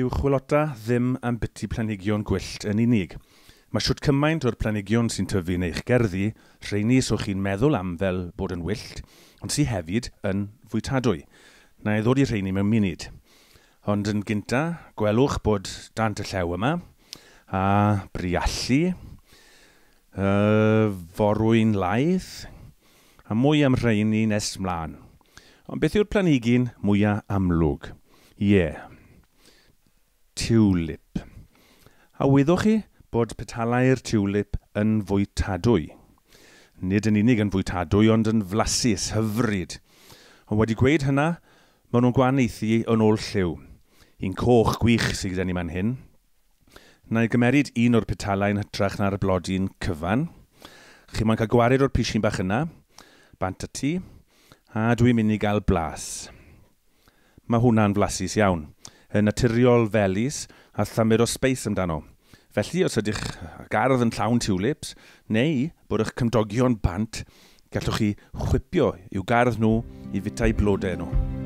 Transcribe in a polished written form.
Dyw chwilota ddim am biti planhigion gwyllt yn unig. Mae shwt cymaint o'r planhigion sy'n tyfu yn eich gerddi, rheini so chi'n meddwl am fel bod yn wyllt, ond sy hefyd yn fwytadwy. Na i ddod i rheini mewn munud. Ond yn gynta, gwelwch bod dant y llew yma, a briallu, forwyn laeth, a mwy am rheini nes mlaen. Ond beth yw'r planhigyn mwyaf amlwg? Ie, yeah. Tulip. A wyddoch chi bod petalau'r tulip yn fwytadwy? Nid yn unig yn fwytadwy, ond yn flasus, hyfryd. Ond wedi gweud hynna, maen nhw'n gwahaniaethu yn ôl lliw. Un coch gwych sydd gyda ni man hyn. Na i gymeryd un o'r petalau yn hytrach na'r blodyn cyfan. Chi moyn cael gwared o'r pishin bach yna, bant ati, a dwi'n mynd i gael blas. Mae hwnna'n flasus iawn. Yn naturiol felys a thamed o sbeis amdano. Felly, os ydych gardd yn llawn tulips, neu bod eich cymdogion bant, gallwch chi chwipio i'w gardd nhw i fwyta'u blodau nhw.